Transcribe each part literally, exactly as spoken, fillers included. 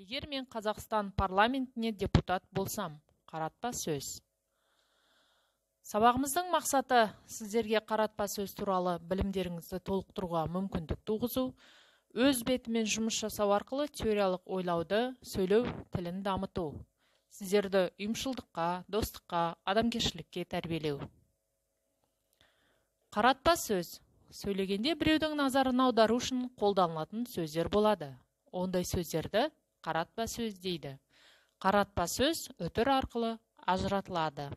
Егер мен Қазақстан парламентіне депутат болсам, қаратпа сөз. Сабағымыздың мақсаты сіздерге қаратпа сөз туралы білімдеріңізді толықтыруға мүмкіндік туғызу, өз бетімен жұмыс жасау арқылы теориялық ойлауды, сөйлеу тілін дамыту, сіздерді ұйымшылдыққа, достыққа, адамгершілікке тәрбиелеу. Қаратпа сөз. Сөйлегенде біреудің назарын аудару үшін қолданылатын сөздер болады. Ондай сөздерді қаратпа сөз дейді. Қаратпа сөз үтір арқылы ажыратылады.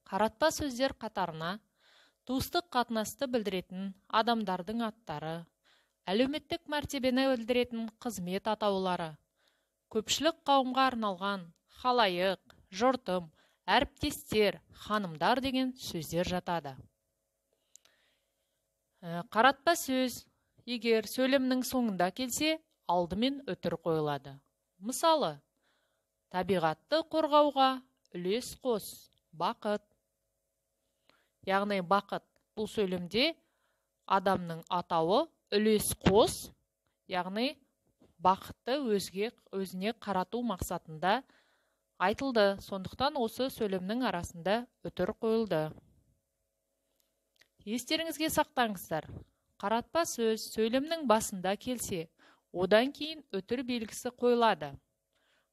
Қаратпа сөздер қатарына туыстық қатынасты білдіретін адамдардың аттары, әлеуметтік мәртебені білдіретін қызмет атаулары, көпшілік қауымға арналған халайық, жұртым, әріптестер, ханымдар деген сөздер жатады. Қаратпа сөз егер сөйлемнің соңында келсе, алдымен үтір қойылады. Мысалы, табиғатты қорғауға үлес қос, бақыт. Яғни бақыт бұл сөйлемде адамның атауы үлес қос, яғни бақытты өзге өзіне қарату мақсатында айтылды. Сондықтан осы сөйлемнің арасында үтір қойылды. Естеріңізге сақтаңыздар. Қаратпа сөз сөйлемнің басында келсе, одан кейін үтір белгісі қойылады.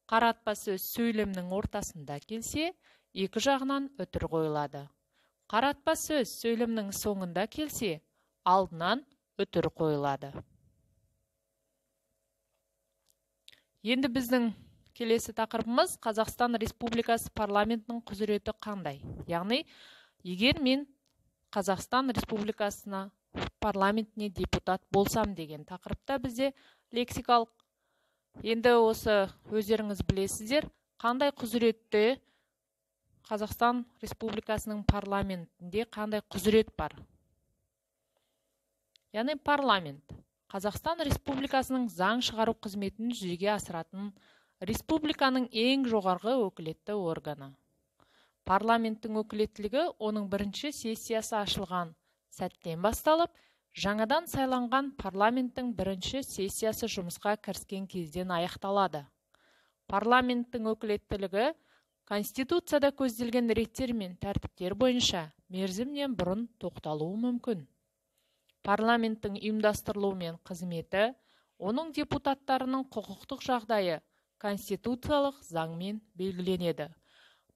Қаратпа сөз сөйлемнің ортасында келсе, екі жағынан үтір қойылады. Қаратпа сөз сөйлемнің соңында келсе, алдынан үтір қойылады. Енді біздің келесі тақырыбымыз Қазақстан Республикасы парламентінің құзыреті қандай? Яғни, егер мен Қазақстан Республикасына парламентіне депутат болсам деген тақырыпта бізде лексикалық. Енді осы өздеріңіз білесіздер, қандай құзыретте Қазақстан Республикасының парламентінде қандай құзырет бар? Яғни парламент Қазақстан Республикасының заң шығару қызметін жүзеге асыратын республиканың ең жоғарғы өкілетті органы. Парламенттің өкілеттілігі оның бірінші сессиясы ашылған сәттен басталып, жаңадан сайланған парламенттің бірінші сессиясы жұмысқа кіріскен кезден аяқталады. Парламенттің өкілеттілігі Конституцияда көзделген реттер мен тәртіптер бойынша мерзімнен бұрын тоқталуы мүмкін. Парламенттің ұйымдастырылуы мен қызметі, оның депутаттарының құқықтық жағдайы конституциялық заңмен белгіленеді.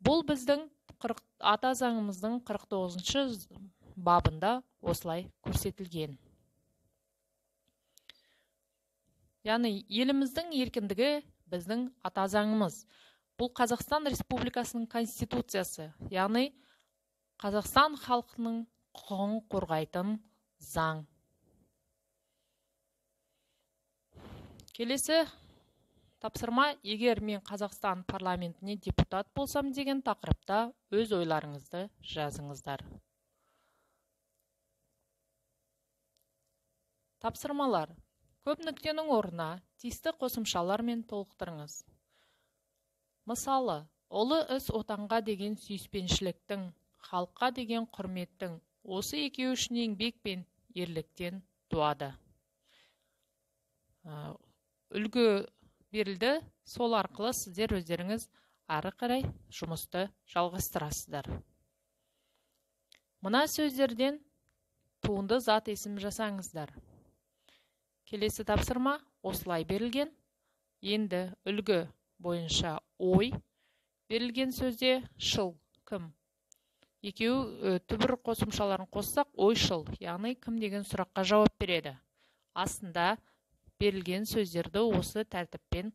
Бұл біздің ата заңымыздың қырық тоғызыншы бабында осылай көрсетілген. Яғни еліміздің еркіндігі біздің ата заңымыз. Бұл Қазақстан Республикасының конституциясы, яғни Қазақстан халқының құқығын қорғайтын заң. Келесі тапсырма, егер мен Қазақстан парламентіне депутат болсам деген тақырыпта өз ойларыңызды жазыңыздар. Тапсырмалар. Көп нүктенің орнына тиісті қосымшалармен толықтырыңыз. Мысалы, ұлы іс отанға деген сүйіспеншіліктің, халыққа деген құрметтің, осы екеуі үшін еңбек пен ерліктен туады. Үлгі берілді, сол арқылы сіздер өздеріңіз ары қарай жұмысты жалғастырасыздар. Мына сөздерден туынды зат есім жасаңыздар. Келесі тапсырма осылай берілген. Енді үлгі бойынша ой берілген сөзде шыл, кім. Екеуі түбір қосымшаларын қоссақ, ойшыл, яғни кім деген сұраққа жауап береді. Астында берілген сөздерді осы тәртіппен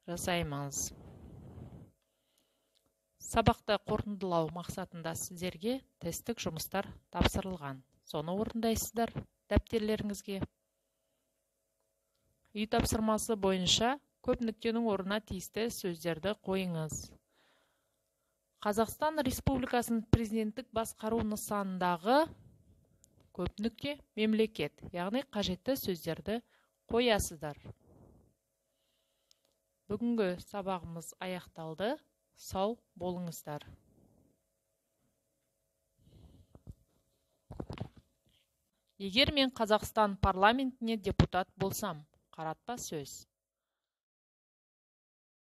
жасаймыз. Сабақты қорытындылау мақсатында сіздерге тесттік жұмыстар тапсырылған. Соны орындайсыздар дәптерлеріңізге. Үй тапсырмасы бойынша көп нүктенің орнына тиісті сөздерді қойыңыз. Қазақстан Республикасының президенттік басқару нысанындағы көп нүкте мемлекет, яғни қажетті сөздерді қоясыздар. Бүгінгі сабағымыз аяқталды. Сау болыңыздар. Егер мен Қазақстан парламентіне депутат болсам, қаратпа сөз.